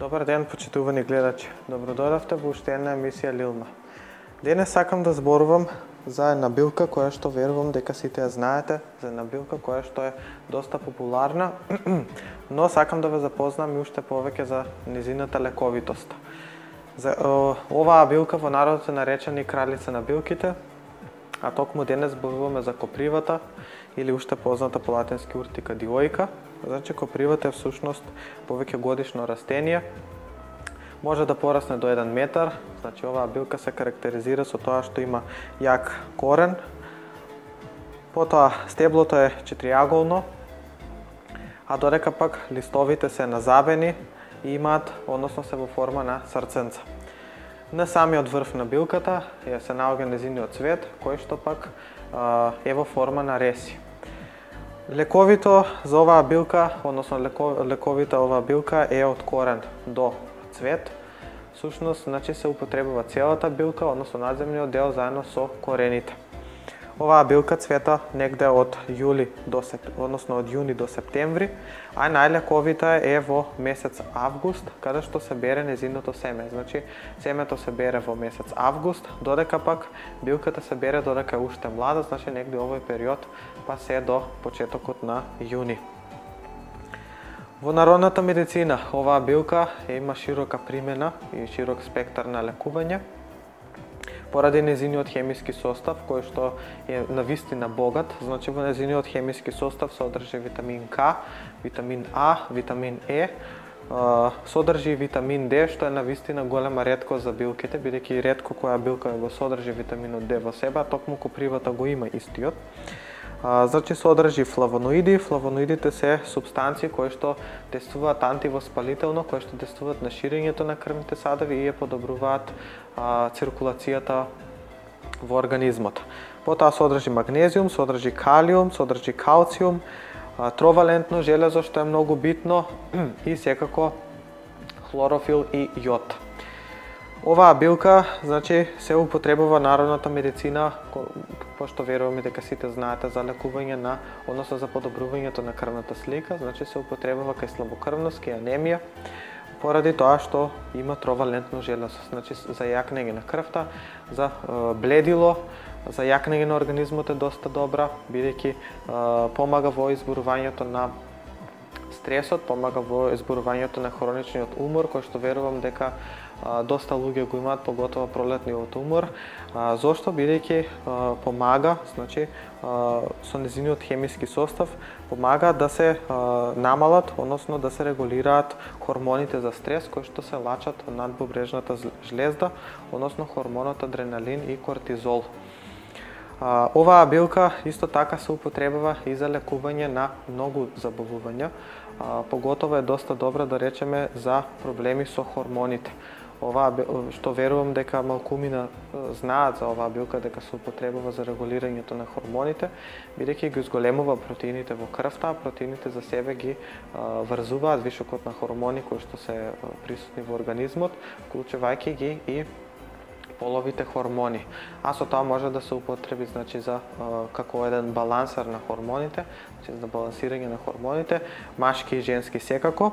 Добар ден, почитувани гледачи. Добродојавте во уште една емисија Лилма. Денес сакам да зборувам за една билка која што верувам дека сите ја знаете, за една билка која што е доста популарна, но сакам да ве запознам и уште повеќе за незината лековитост. Оваа билка во народот е наречена и кралица на билките, а токму денес зборуваме за копривата или уште позната по латински уртика диоика. Значи копривата е всушност повеќе годишно растение. Може да порасне до 1 метар. Значи оваа билка се карактеризира со тоа што има јак корен. Потоа стеблото е четириаголно, а додека пак листовите се назабени и имаат, односно се во форма на срценца. На самиот врв на билката се наоѓа незиниот цвет, кој што пак е во форма на реси. Лековито за оваа билка, односно лековита оваа билка е од корен до цвет. Всушност, значи се употребува целата билка, односно надземниот дел заедно со корените. Оваа билка цвета негде од јуни до септември, а најлековита е во месец август, каде што се бере незиното семе. Значи, семето се бере во месец август, додека пак билката се бере додека е уште млада, значи негде овој период па се до почетокот на јуни. Во народната медицина оваа билка има широка примена и широк спектар на лекување, поради незиниот хемиски состав, кој што е навистина богат. Значи во незиниот хемиски состав содржи витамин К, витамин А, витамин Е, содржи витамин Д, што е навистина голема реткост за билките, бидејќи ретко која билка го содржи витаминот Д во себе, а токму копривата го има истиот. Значи содржи флавоноиди. Флавоноидите се супстанции кои што действуваат антивоспалително, кои што действуваат на ширењето на крвните садови и ја подобруваат циркулацијата во организмот. Потоа содржи магнезиум, содржи калиум, содржи калциум, тровалентно железо што е многу битно и секако хлорофил и јод. Оваа билка, значи, се употребува народната медицина, пошто веруваме дека сите знаете за лекување на, односно за подобрувањето на крвната слика, значи се употребува кај слабокрвност, кај анемија, поради тоа што има тровалентно железо, значи за јакнење на крвта, за бледило, за јакнење на организмот е доста добра, бидејќи помага во изборувањето на стресот, помага во изборувањето на хроничниот умор, кој што верувам дека доста луѓе го имаат, поготово пролетниот умор. Зошто? Бидејќи помага, значи, со незиниот хемиски состав, помага да се намалат, односно да се регулираат хормоните за стрес, кои што се лачат од надбубрежната жлезда, односно хормонот адреналин и кортизол. Оваа билка исто така се употребува и за лекување на многу заболувања, поготово е доста добра, да речеме, за проблеми со хормоните. Оваа што верувам дека малкумина знаат за оваа билка, дека се употребува за регулирањето на хормоните, бидејќи ги изголемува протеините во крвта, а протеините за себе ги врзуваат вишокот на хормони кои што се присутни во организмот, вклучувајќи ги и половите хормони. А со тоа може да се употреби, значи, за како еден балансер на хормоните, значи за балансирање на хормоните, машки и женски секако.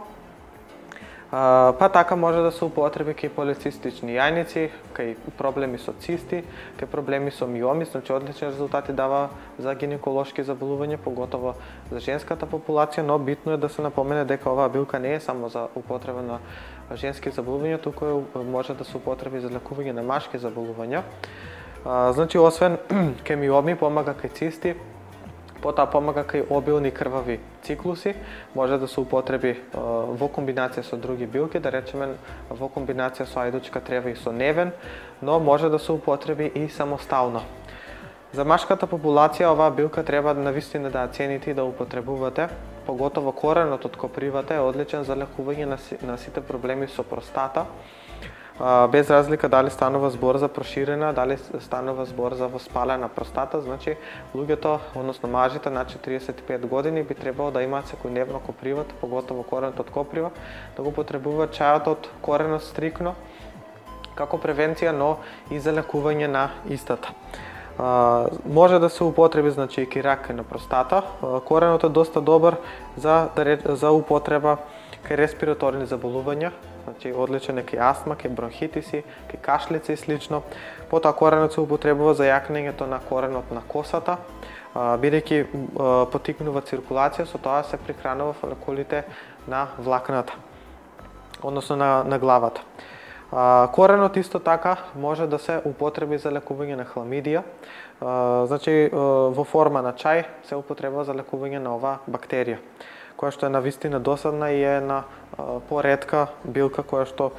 Па така може да се употреби кај полицистични јајници, кај проблеми со цисти, кај проблеми со миоми, значи одлични резултати дава за гинеколошки заболувања, поготово за женската популација, но битно е да се напомене дека оваа билка не е само за употреба на женски заболувања, туку може да се употреби за лекување на машки заболувања. Значи, освен кај миоми, помага кај цисти, потоа помага кај обилни крвави циклуси, може да се употреби во комбинација со други билки, да речеме во комбинација со ајдучка трева и со невен, но може да се употреби и самостално. За машката популација оваа билка треба навистина да ја цените и да употребувате, поготово коренот од копривата е одличен за лекување на сите проблеми со простата, без разлика дали станува збор за проширена, дали станува збор за воспалена простата, значи луѓето, односно мажите над 45 години би требало да имаат секојдневно копривата, поготово коренот од коприва, да го потребуваат чајот од коренот стрикно како превенција, но и за лекување на истата. Може да се употреби, значи, и рак на простата. Коренот е доста добар за употреба кај респираторни заболувања, значи одличен е кај астма, кај бронхитиси, кај кашлици и слично. Потоа коренот се употребува за јакнењето на коренот на косата, бидејќи поттикнува циркулација, со тоа се прихранува фоликулите на влакната, односно на главата. Коренот исто така може да се употреби за лекување на хламидија, значи во форма на чај се употребува за лекување на оваа бактерија, која што е навистина досадна и е една поретка билка која што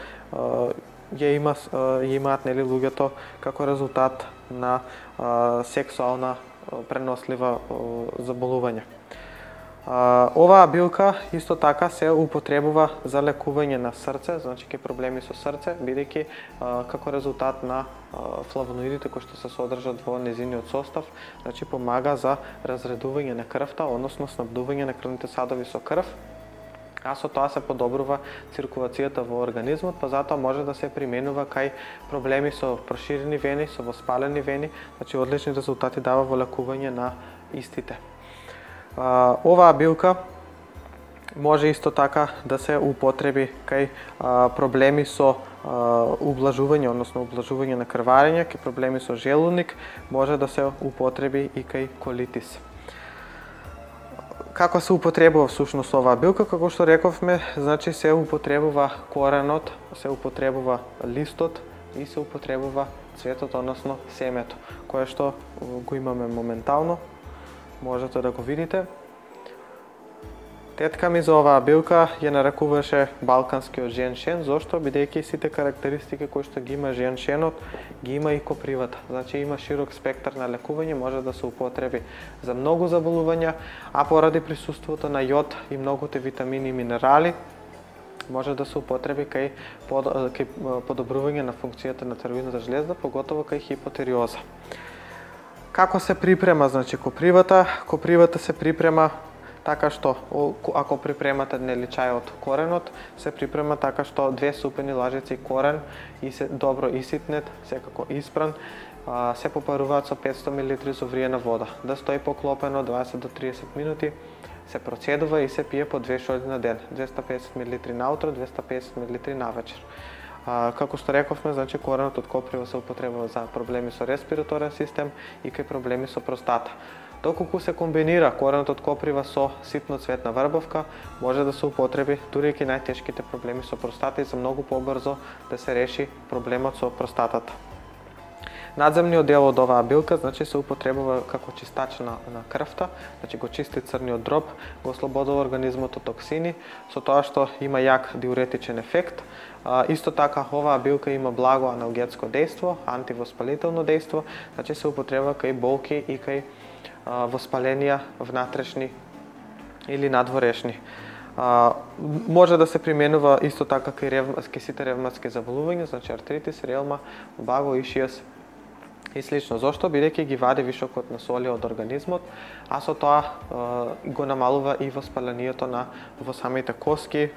ја имаат нели луѓето како резултат на сексуална пренослива заболување. Оваа билка исто така се употребува за лекување на срце, значи ке проблеми со срце, бидејќи како резултат на флавоноидите кои што се содржат во незиниот состав, значи помага за разредување на крвта, односно снабдување на крвните садови со крв, а со тоа се подобрува циркулацијата во организмот, па затоа може да се применува кај проблеми со проширени вени, со воспалени вени, значи одлични резултати дава во лекување на истите. Оваа билка може исто така да се употреби кај проблеми со ублажување, односно ублажување на крварење, кај проблеми со желудник, може да се употреби и кај колитис. Како се употребува всушност оваа билка? Како што рековме, значи се употребува коренот, се употребува листот и се употребува цветот, односно семето, кое што го имаме моментално. Можете да го видите. Тетка ми за оваа билка ја нарекуваше балканскиот женшен, зошто? Бидејќи сите карактеристики кои што ги има женшенот, ги има и копривата. Значи има широк спектар на лекување, може да се употреби за многу заболувања, а поради присуството на јод и многуте витамини и минерали, може да се употреби кај подобрување на функцијата на црвената жлезда, поготово кај хипотериоза. Како се припрема, значи копривата? Копривата се припрема така што, ако припремате нели чајот коренот, се припрема така што 2 супени лажици корен и се добро иситнет, секако испран, се попаруваат со 500 мл зовриена вода, да стои поклопено 20 до 30 минути, се процедува и се пие по 2 шоли на ден, 250 мл наутро, 250 мл навечер. Како што рековме, значи коренот од коприва се употребува за проблеми со респираторен систем и кај проблеми со простата. Доколку се комбинира коренот од коприва со ситноцветна врбовка, може да се употреби дури и кај најтешките проблеми со простата и за многу побрзо да се реши проблемот со простатата. Надземниот дел од оваа билка, значи се употребува како чистач на крвта, значи го чисти црниот дроб, го ослободува организмот од токсини, со тоа што има јак диуретичен ефект. Исто така оваа билка има благо аналгетско дејство, антивоспалително дејство, значи се употребува кај болки и кај воспаленија внатрешни или надворешни. Може да се применува исто така кај сите ревматски заболувања, значи артритис, ревма, баго, ишијас и слично. Зошто? Бидејќи ги вади вишокот на соли од организмот, а со тоа го намалува и воспалението во самите коски,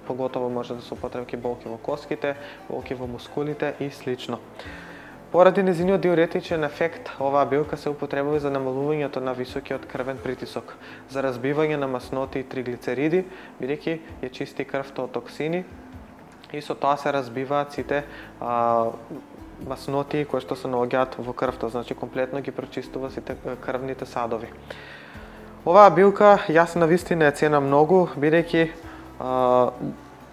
поготово може да се употреби болки во коските, болки во мускулите и слично. Поради незиниот диуретичен ефект, оваа билка се употребува за намалувањето на високиот крвен притисок, за разбивање на масноти и триглицериди, бидејќи ја чисти крвта од токсини и со тоа се разбиваат сите масноти кои што се наоѓаат во крвта, значи комплетно ги прочистува сите крвните садови. Оваа билка јас навистина ја ценам многу, бидејќи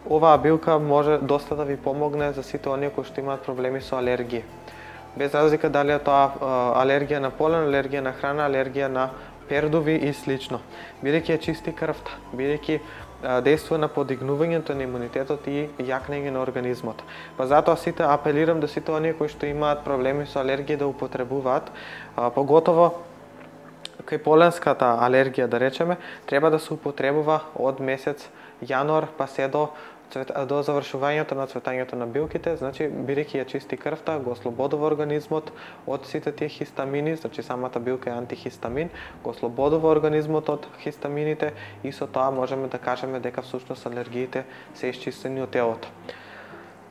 оваа билка може доста да ви помогне за сите оние кои што имаат проблеми со алергија. Без разлика дали е тоа алергија на полен, алергија на храна, алергија на пердуви и слично. Бидејќи ја чисти крвта, бидејќи дејствува на подигнувањето на имунитетот и јакнење на организмот. Па затоа сите апелирам да сите оние кои што имаат проблеми со алергија да употребуваат, поготово кај поленската алергија да речеме, треба да се употребува од месец јануар па се до завршувањето на цветањето на билките, значи бидејќи ја чисти крвта, го ослободува организмот од сите тие хистамини, значи самата билка е антихистамин, го ослободува организмот од хистамините и со тоа можеме да кажеме дека всушност алергиите се исчистени од телото.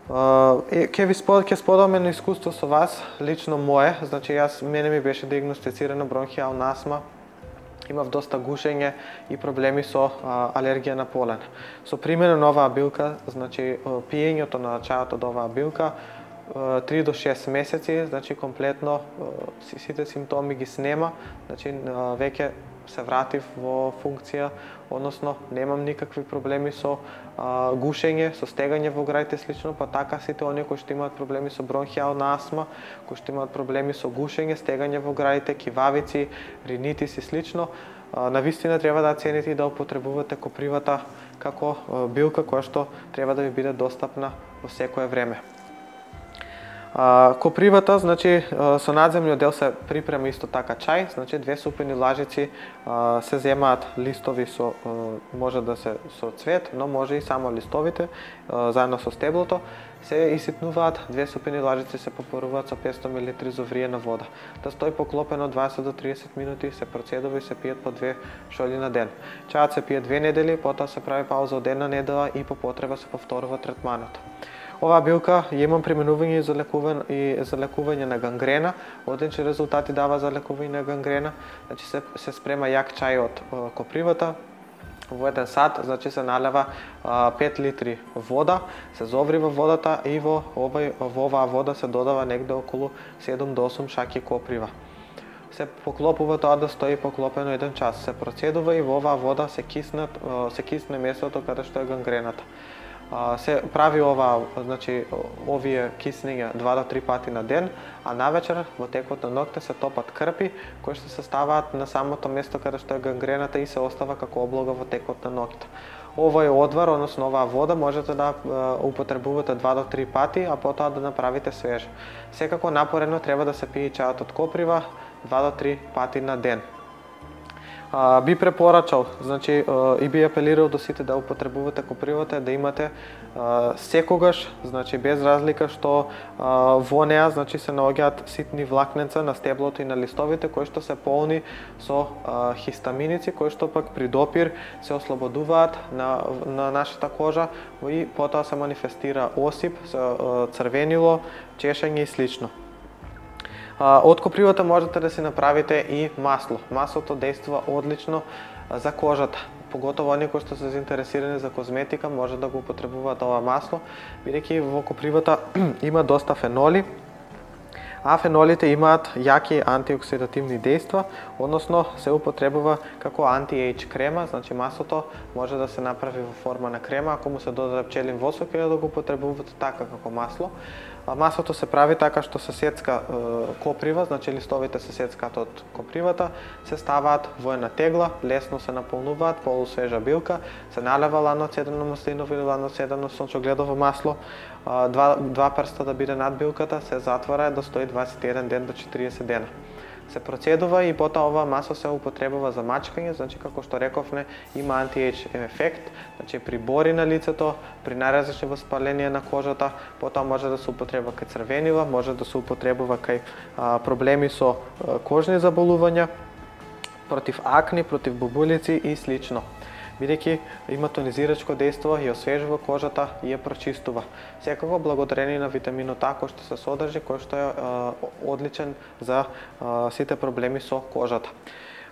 Ќе споделам едно искуство со вас, лично мое, значи мене ми беше диагностицирана бронхијална астма имав доста гушење и проблеми со алергија на полен. Со примена на оваа билка, значи пиењето на чајот од оваа билка 3 до 6 месеци, значи комплетно сите симптоми ги снема, значи веќе се вратив во функција, односно немам никакви проблеми со гушење, со стегање во граите слично, па така сите оние кои што имаат проблеми со бронхијална астма, кои што имаат проблеми со гушење, стегање во граите, кивавици, ринитис и слично, навистина треба да цените и да употребувате копривата како билка која што треба да ви биде достапна во секое време. Копривата, значи со надземниот дел се припрема исто така чај, значи 2 супени лажици се земаат листови со може да се со цвет, но може и само листовите заедно со стеблото, се иситнуваат, 2 супени лажици се попаруваат со 500 мл зовриена вода. Да стои поклопено 20 до 30 минути, се процедува и се пијат по 2 шолји на ден. Чајот се пие 2 недели, потоа се прави пауза од 1 недела и по потреба се повторува третманот. Оваа билка ја имам применување и за лекување на гангрена, одлични резултати дава за лекување на гангрена, значи се спрема јак чај од копривата, во 1 сат, значи се налева 5 литри вода, се зоврива водата и во оваа вода се додава негде околу 7 до 8 шаки коприва. Се поклопува тоа да стои поклопено 1 час, се процедува и во оваа вода се кисне местото каде што е гангрената. Се прави значи овие киснења 2 до 3 пати на ден, а навечер во текот на ноќта се топат крпи кои што се ставаат на самото место каде што е гангрената и се остава како облога во текот на ноќта. Овој одвар, односно оваа вода можете да употребувате 2 до 3 пати, а потоа да направите свежа. Секако напорено треба да се пие чајот од коприва 2 до 3 пати на ден. Би препорачал, значи и би апелирал до сите да употребувате копривата, да имате секогаш, значи без разлика што во неа, значи се наоѓаат ситни влакненца на стеблото и на листовите кои што се полни со хистаминици кои што пак при допир се ослободуваат на нашата кожа и потоа се манифестира осип, црвенило, чешење и слично. Од копривата можете да си направите и масло. Маслото действува одлично за кожата. Поготово оние кои што се заинтересирани за козметика може да го употребуваат ова масло, бидејќи во копривата има доста феноли, а фенолите имаат јаки антиоксидативни дејства, односно се употребува како анти-ејдж крема, значи маслото може да се направи во форма на крема, ако му се додаде пчелин восок или да го употребувате така како масло. Маслото се прави така што се сецка коприва, значи листовите се сецкаат од копривата, се ставаат во една тегла, лесно се наполнуваат, полусвежа билка, се налева ладно цедено маслиново или ладно цедено сончогледово масло, 2 прста да биде над билката, се затвора да стои 21 ден до 40 дена. Се процедува и потоа ова масло се употребува за мачкање, значи како што рековме има анти-ејдж ефект, значи при бори на лицето, при најразлични воспаленија на кожата, потоа може да се употребува кај црвенила, може да се употребува кај проблеми со кожни заболувања, против акни, против бубулици и слично. Бидејќи има тонизирачко дејство и освежува кожата и ја прочистува. Секако благодарение на витаминот А кој што се содржи, кој што е одличен за сите проблеми со кожата.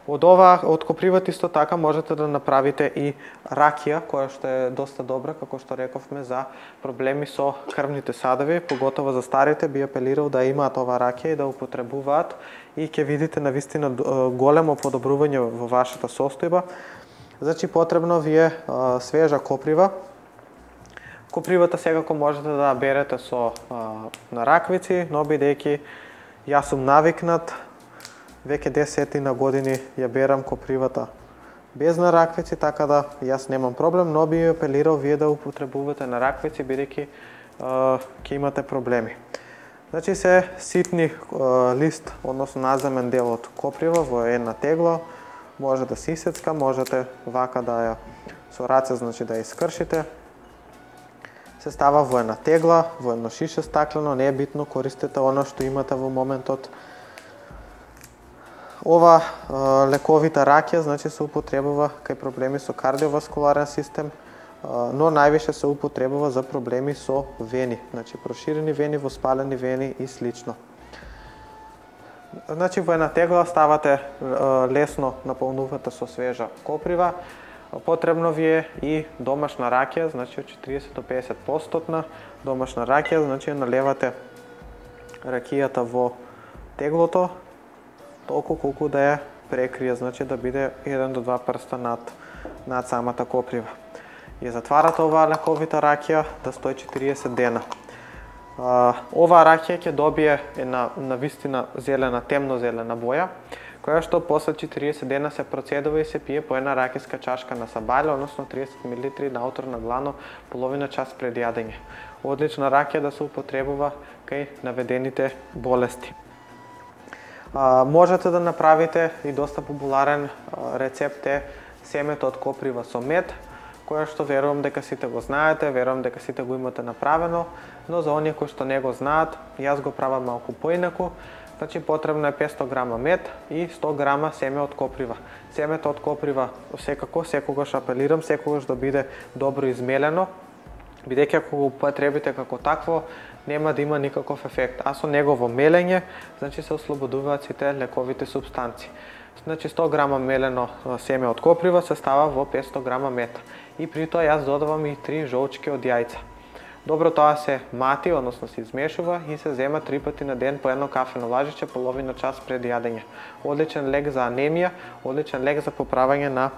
Од копривата исто така можете да направите и ракија, која што е доста добра, како што рековме, за проблеми со крвните садови, поготово за старите би апелирал да имаат ова ракија и да употребуваат и ќе видите навистина големо подобрување во вашата состојба. Значи потребно ви е свежа коприва. Копривата секако можете да берете со на раквици, но бидејќи јас сум навикнат, веќе 10 години ја берам копривата без на раквици, така да јас немам проблем, но би апелирал вие да употребувате на раквици, бидејќи ќе имате проблеми. Значи се ситни лист, односно наземен дел од коприва во една тегла, може да се исецка, можете вака да ја со раце, значи да ја искршите. Се става во една тегла, во едно шише стаклено, не е битно, користете оно што имате во моментот. Ова лековита ракија, значи се употребува кај проблеми со кардиоваскуларен систем, но највише се употребува за проблеми со вени, значи проширени вени, воспалени вени и слично. Значи во една тегла ставате лесно наполнувате со свежа коприва. Потребно ви е и домашна ракија, значи од 40 до 50% домашна ракија, значи налевате ракијата во теглото толку колку да ја прекрие, значи да биде 1 до 2 прста над самата коприва. Ја затварате оваа лековита ракија да стои 40 дена. Оваа ракија ќе добие една навистина зелена, темно-зелена боја, која што после 40 дена се процедува и се пие по една ракијска чашка на сабале, односно 30 мл наутро на глано, половина час пред јадење. Одлична ракија да се употребува кај наведените болести. Можете да направите и доста популарен рецепт е семето од коприва со мед, која што верувам дека сите го знаете, верувам дека сите го имате направено, но за оние кои што не го знаат, јас го правам малку поинаку. Значи потребно е 500 грама мед и 100 грама семе од коприва. Семето од коприва секогаш апелирам, секогаш да биде добро измелено, бидејќи ако го употребите како такво, нема да има никаков ефект. А со негово мелење, значи се ослободуваат сите лековите супстанции. Значи 100 грама мелено семе од коприва се става во 500 грама мед. И при тоа јас додавам и 3 жолчки од јајца. Добро тоа се мати, односно се измешува и се зема 3 пати на ден по едно кафено лажиче половина час пред јадење. Одличен лек за анемија, одличен лек за поправање на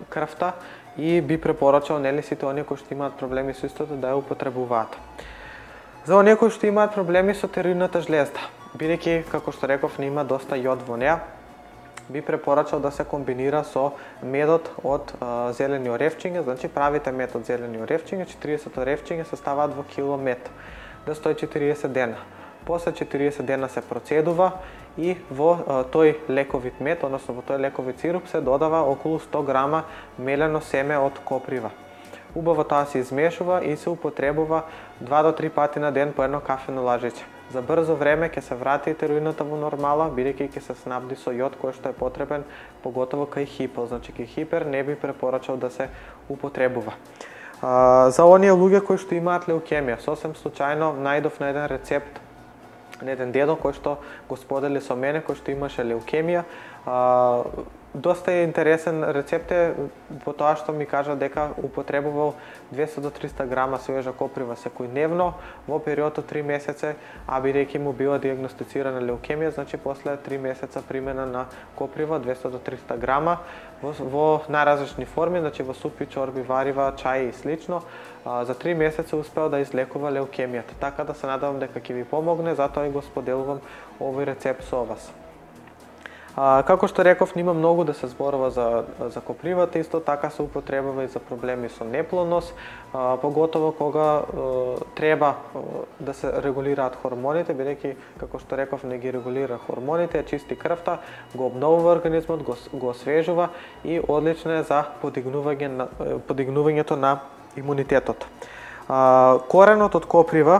крвта и би препорачал нели сите оние кои што имаат проблеми со истото да ја употребуваат. За оние кои што имаат проблеми со тиреоидната жлезда, бидејќи како што реков има доста јод во неа, би препорачал да се комбинира со медот од зелени оревчиња, значи правите мед од зелени оревчиња, 40 оревчиња се ставаат во кило мед, да стои 40 дена. После 40 дена се процедува и во тој лековит мед, односно во тој лековит сируп се додава околу 100 грама мелено семе од коприва. Убаво тоа се измешува и се употребува 2 до 3 пати на ден по едно кафено лажиче. За брзо време ќе се врати тиреоидната во нормала, бидејќи ќе се снабди со јод кој што е потребен, поготово кај хипо, значи кај хипер не би препорачал да се употребува. За оние луѓе кои што имаат леукемија, сосем случајно најдов на еден рецепт на еден дедо кој што го сподели со мене, кој што имаше леукемија. Доста е интересен рецепт е по тоа што ми кажа дека употребувал 200 до 300 грама свежа коприва секојдневно во период од 3 месеци, а бидејќи му била диагностицирана леукемија, значи после 3 месеца примена на коприва 200 до 300 грама во најразлични форми, значи во супи, чорби, варива, чаи и слично. За 3 месеца успеал да излекува леукемијата, така да се надевам дека ќе ви помогне, затоа и го споделувам овој рецепт со вас. Како што реков, нема многу да се зборува за копривата, исто така се употребува и за проблеми со неплодност, поготово кога треба да се регулираат хормоните, бидејќи како што реков не ги регулира хормоните, чисти крвта, го обновува организмот, го освежува и одлично е за подигнувањето на имунитетот. Коренот од коприва,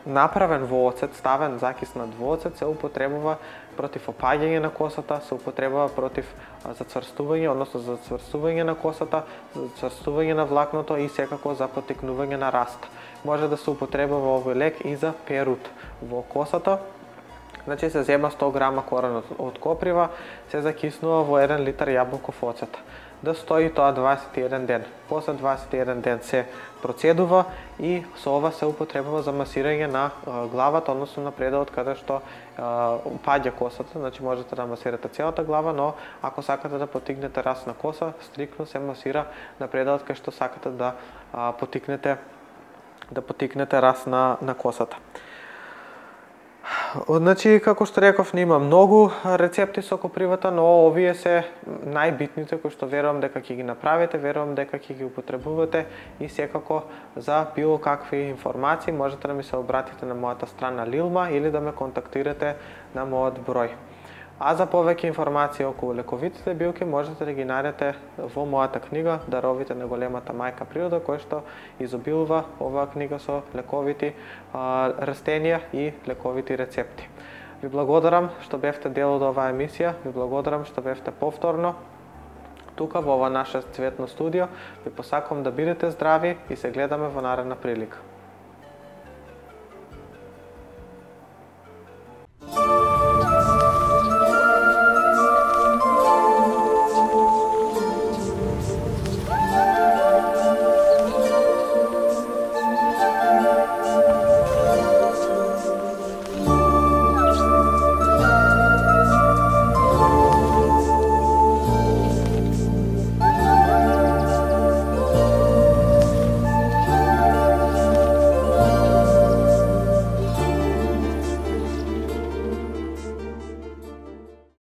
направен во оцет, ставен закиснат во оцет, се употребува против опаѓање на косата, се употребува против зацврстување, односно за зацврстување на косата, за зацврстување на влакното и секако за потекнување на раст. Може да се употребува овој лек и за перут во косата. Значи се зема 100 грама корен од коприва, се закиснува во 1 литар јаболков оцет. Да стои тоа 21 ден. После 21 ден се процедува и со ова се употребува за масирање на главата, односно на пределот каде што паѓа косата, значи можете да масирате целата глава, но ако сакате да потигнете раст на коса, стриктно се масира на пределот кај што сакате да потикнете раст на косата. Значи, како што реков, нема многу рецепти со копривата, но овие се најбитните кои што верувам дека ќе ги направите, верувам дека ќе ги употребувате и секако за било какви информации можете да ми се обратите на мојата страна Лилма или да ме контактирате на мојот број. А за повеќе информации околу лековитите билки можете да ги најдете во мојата книга Даровите на големата мајка природа, која што изобилува оваа книга со лековити растенија и лековити рецепти. Ви благодарам што бевте дел од оваа емисија, ви благодарам што бевте повторно тука во ова наше цветно студио. Ви посакувам да бидете здрави и се гледаме во наредна прилика.